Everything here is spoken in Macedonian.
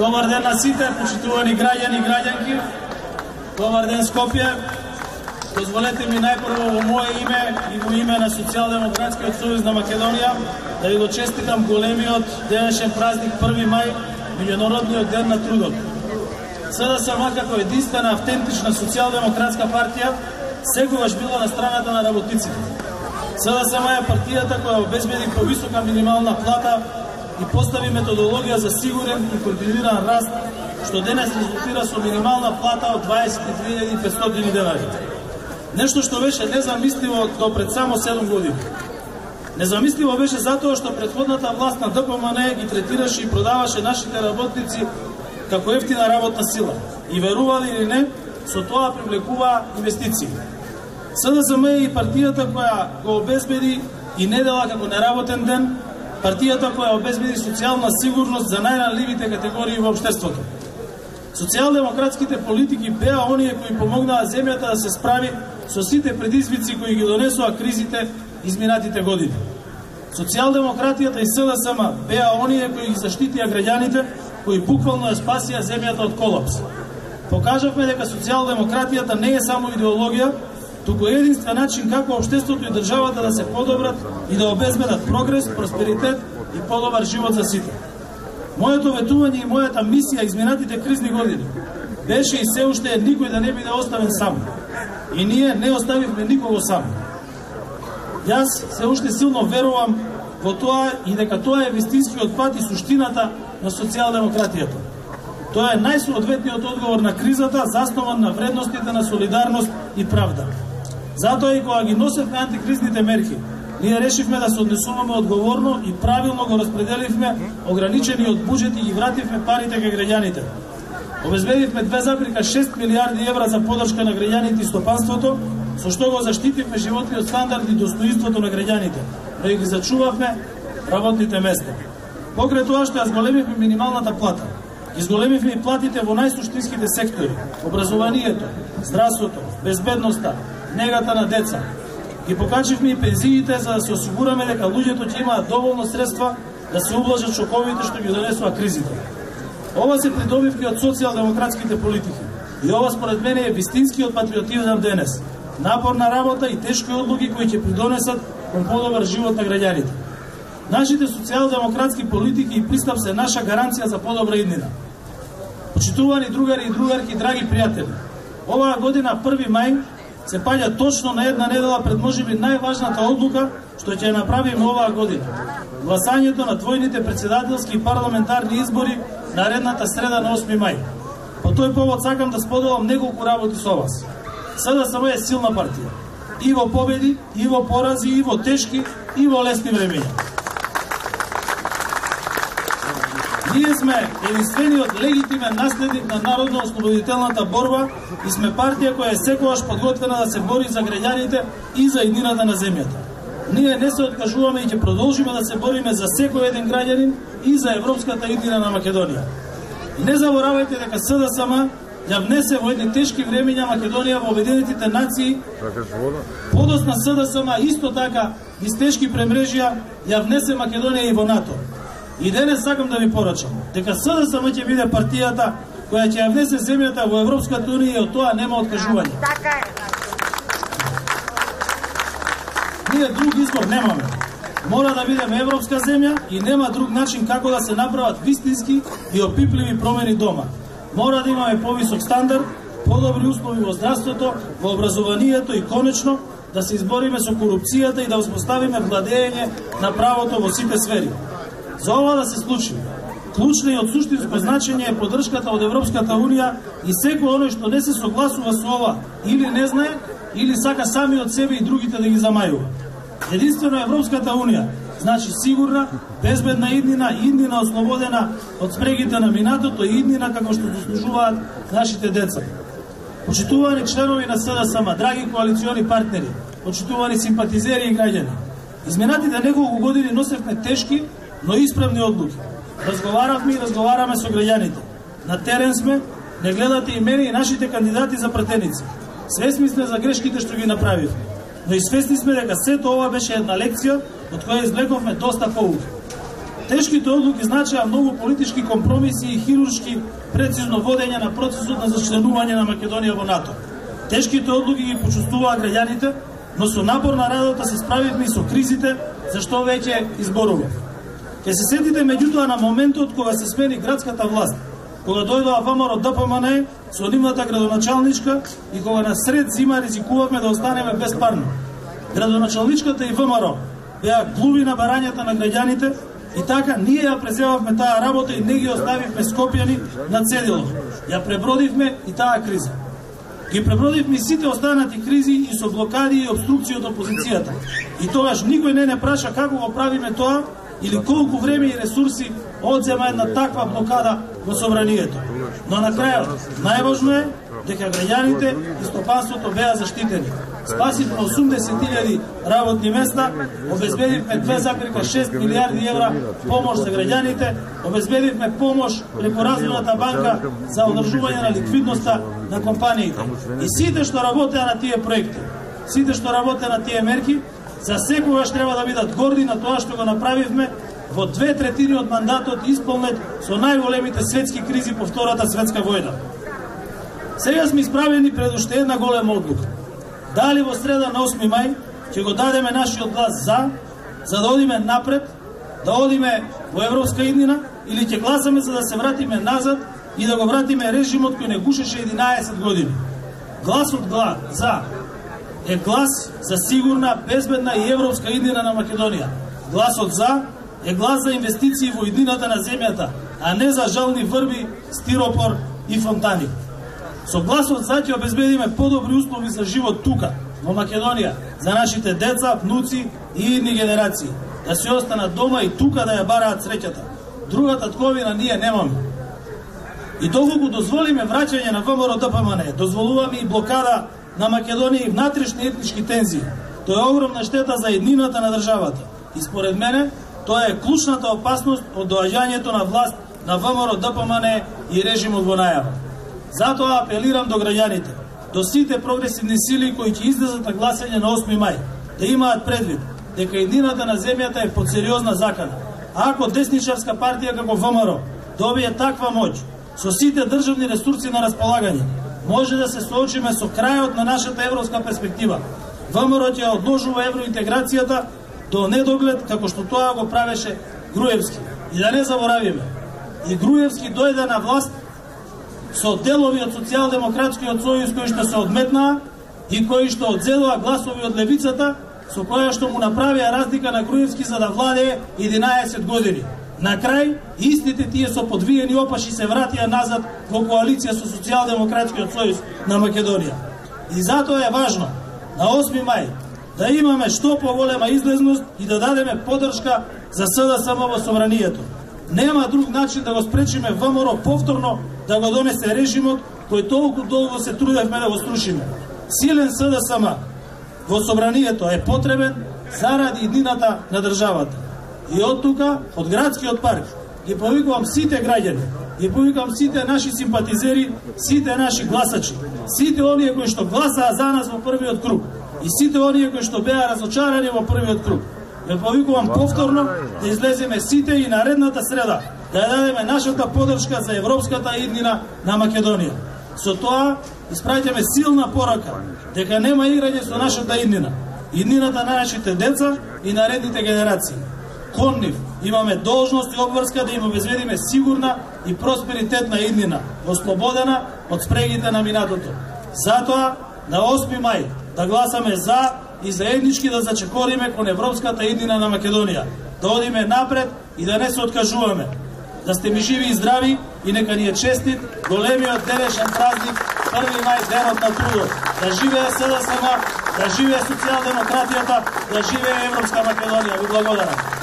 Добар ден на сите, почитувани граѓани и граѓанки. Добар ден Скопје. Дозволете ми најпрво во мое име и во име на Социјалдемократскиот сојуз на Македонија да ви го честитам големиот денешен празник 1 мај, меѓународниот ден на трудот. СДСМ како единствена автентична социјалдемократска партија секогаш била на страната на работниците. СДСМ е партијата која обезбеди повисока минимална плата и постави методологија за сигурен и континуиран раст, што денес резултира со минимална плата од 22.500 денари. Нешто што беше незамисливо до пред само 7 години. Незамисливо беше затоа што претходната власт на ДПМН ги третираше и продаваше нашите работници како ефтина работна сила. И верували или не, со тоа привлекуваа инвестиции. СДСМ е и партијата која го обезбеди и недела како неработен ден, партијата која обезбеди социјална сигурност за најранливите категории во општеството. Социјалдемократските политики беа оние кои помогнаа земјата да се справи со сите предизвици кои ги донесоа кризите изминатите години. Социјалдемократијата и СДСМ беа оние кои ги заштитија граѓаните, кои буквално ја спасија земјата од колапс. Покажавме дека социјалдемократијата не е само идеологија, туку е единствен начин како општеството и државата да се подобрат и да обезбедат прогрес, просперитет и подобар живот за сите. Моето ветување и мојата мисија изминатите кризни години беше и се уште е никој да не биде оставен сам. И ние не оставивме никого сам. Јас се уште силно верувам во тоа и дека тоа е вистинскиот пат и суштината на социјалдемократијата. Тоа е најсоодветниот одговор на кризата, заснован на вредностите на солидарност и правда. Затоа и кога ги носевме антикризните мерки, ние решивме да се однесуваме одговорно и правилно го распределивме ограничениот буџет и ги вративме парите кај граѓаните. Обезбедивме 2,6 милиарди евра за подршка на граѓаните и стопанството, со што го заштитивме животниот стандард и достоинството на граѓаните, но и ги зачувавме работните места. Покрај тоа што ја зголемивме минималната плата, ги зголемивме и платите во најсуштинските сектори: образованието, здравството, безбедноста, негата на деца. Ги покачивме и пензиите за да се осигураме дека луѓето ќе имаат доволно средства да се ублажат шоковите што ги донесоа кризите. Ова се придобивки од социјалдемократските политики. И ова според мене е вистинскиот патриотизам денес. Напорна работа и тешки одлуки кои ќе придонесат кон подобар живот на граѓаните. Нашите социјалдемократски политики и пристап се наша гаранција за подобра иднина. Почитувани другари и другарки, драги пријатели, оваа година 1 мај се паѓа точно на една недела пред можеби најважната одлука што ќе ја направиме оваа година. Гласањето на двојните претседателски и парламентарни избори наредната среда на 8 мај. По тој повод сакам да споделам неколку работи со вас. СДСМ е силна партија. И во победи, и во порази, и во тешки, и во лесни времења. Ние сме единствениот легитимен наследник на народно-ослободителната борба и сме партија која е секогаш подготвена да се бори за граѓаните и за иднината на земјата. Ние не се откажуваме и ќе продолжиме да се бориме за секој еден граѓанин и за европската иднина на Македонија. И не заборавајте дека СДСМ ја внесе во едни тешки времења Македонија во Обединетите нации. Подосна СДСМ исто така низ тешки премрежија ја внесе Македонија и во НАТО. И денес сакам да ви порачам дека СДСМ ќе биде партијата која ќе ја внесе земјата во Европската унија и од тоа нема откажување. Ние друг избор немаме. Мора да бидеме европска земја и нема друг начин како да се направат вистински и опипливи промени дома. Мора да имаме повисок стандард, подобри услови во здравството, во образованието и конечно да се избориме со корупцијата и да успоставиме владење на правото во сите сфери. За ова да се случи, клучна и од суштинско значење е поддршката од Европската унија и секој оној што не се согласува со ова или не знае, или сака сами од себе и другите да ги замајува. Единствено Европската унија значи сигурна, безбедна иднина, иднина ослободена од спрегите на минатото и иднина како што заслужуваат нашите деца. Почитувани членови на СДСМ, драги коалициони партнери, почитувани симпатизери и граѓани, изминатите неколку години носевме тешки, но исправни одлуки. Разговаравме и разговараме со граѓаните. На терен сме, не гледате и мене и нашите кандидати за пратеници. Свесни сме за грешките што ги направивме, но и свесни сме дека сето ова беше една лекција од која извлековме доста поуки. Тешките одлуки значеа многу политички компромиси и хируршки прецизно водење на процесот на зачленување на Македонија во НАТО. Тешките одлуки ги почувствуваа граѓаните, но со напорна работа се справивме и со кризите, за што веќе изборував. Ке се сетите меѓутоа на моментот кога се смени градската власт, кога дојдоа ВМРО ДПМНЕ со нивната градоначалничка и кога на сред зима ризикувавме да останеме без парно. Градоначалничката и ВМРО беа глуви на барањата на граѓаните и така ние ја преземавме таа работа и не ги оставивме Скопјани на цедило. Ја пребродивме и таа криза. Ги пребродивме сите останати кризи и со блокади и обструкции од опозицијата. И тогаш никој не праша како го правиме тоа или колку време и ресурси одзема една таква блокада во собранието. Но на крајот, најважно е дека граѓаните и стопанството беа заштитени. Спасивме 80.000 работни места, обезбедивме 2,6 милиарди евра помош за граѓаните, обезбедивме помош преку Развојната банка за одржување на ликвидноста на компаниите. И сите што работеа на тие проекти, сите што работеа на тие мерки, за секогаш треба да бидат горди на тоа што го направивме во 2/3 од мандатот исполнет со најголемите светски кризи по Втората светска војна. Сега сме исправени пред уште една голема одлука. Дали во среда на 8 мај ќе го дадеме нашиот глас за да одиме напред, да одиме во европска иднина, или ќе гласаме за да се вратиме назад и да го вратиме режимот кој не гушеше 11 години. Гласот за е глас за сигурна, безбедна и европска иднина на Македонија. Гласот за е глас за инвестиции во иднината на земјата, а не за жални врби, стиропор и фонтани. Со гласот за ќе обезбедиме подобри услови за живот тука, во Македонија, за нашите деца, внуци и идни генерации, да се останат дома и тука да ја бараат среќата. Друга татковина ние немаме. И доколку дозволиме враќање на ВМРО ДПМНЕ, дозволуваме и блокада на Македонија и внатрешни етнички тензии. Тоа е огромна штета за еднината на државата. И според мене, тоа е клучната опасност од доаѓањето на власт на ВМРО ДПМНЕ и режимот во најава. Затоа апелирам до граѓаните, до сите прогресивни сили кои ќе излезат на гласање на 8 мај, да имаат предвид дека еднината на земјата е под сериозна закана. А ако десничарска партија како ВМРО добие таква моќ, со сите државни ресурси на располагање, може да се соочиме со крајот на нашата европска перспектива. ВМРО ќе одложува евроинтеграцијата до недоглед, како што тоа го правеше Груевски. И да не заборавиме, и Груевски дојде на власт со делови од Социјалдемократскиот сојуз кои што се одметнаа и кои што одзедоа гласови од левицата, со која што му направија разлика на Груевски за да владее 11 години. На крај, истите тие со подвиени опаши се вратија назад во коалиција со Социјалдемократскиот сојуз на Македонија. И затоа е важно на 8 мај да имаме што поголема излезност и да дадеме поддршка за СДСМ во собранието. Нема друг начин да го спречиме ВМРО повторно да го донесе режимот кој толку долго се трудевме да го струшиме. Силен СДСМ во собранието е потребен заради иднината на државата. И од тука, од градскиот парк, ги повикувам сите граѓани, ги повикувам сите наши симпатизери, сите наши гласачи, сите оние кои што гласаа за нас во првиот круг и сите оние кои што беа разочарани во првиот круг. Ја повикувам повторно да излеземе сите и наредната среда, да ја дадеме нашата поддршка за европската иднина на Македонија. Со тоа испраќаме силна порака дека нема играње со нашата иднина, иднината на нашите деца и наредните генерации. Кон нив имаме должност и обврска да им обезбедиме сигурна и просперитетна иднина, ослободена од спрегите на минатото. Затоа на 8 мај да гласаме за и заеднички да зачекориме кон европската иднина на Македонија, да одиме напред и да не се откажуваме. Да сте ми живи и здрави и нека ни е честит големиот денешен празник 1 мај, денот на трудот. Да живее СДСМ, да живее социјалдемократијата, да живее Европска Македонија. Ви благодарам.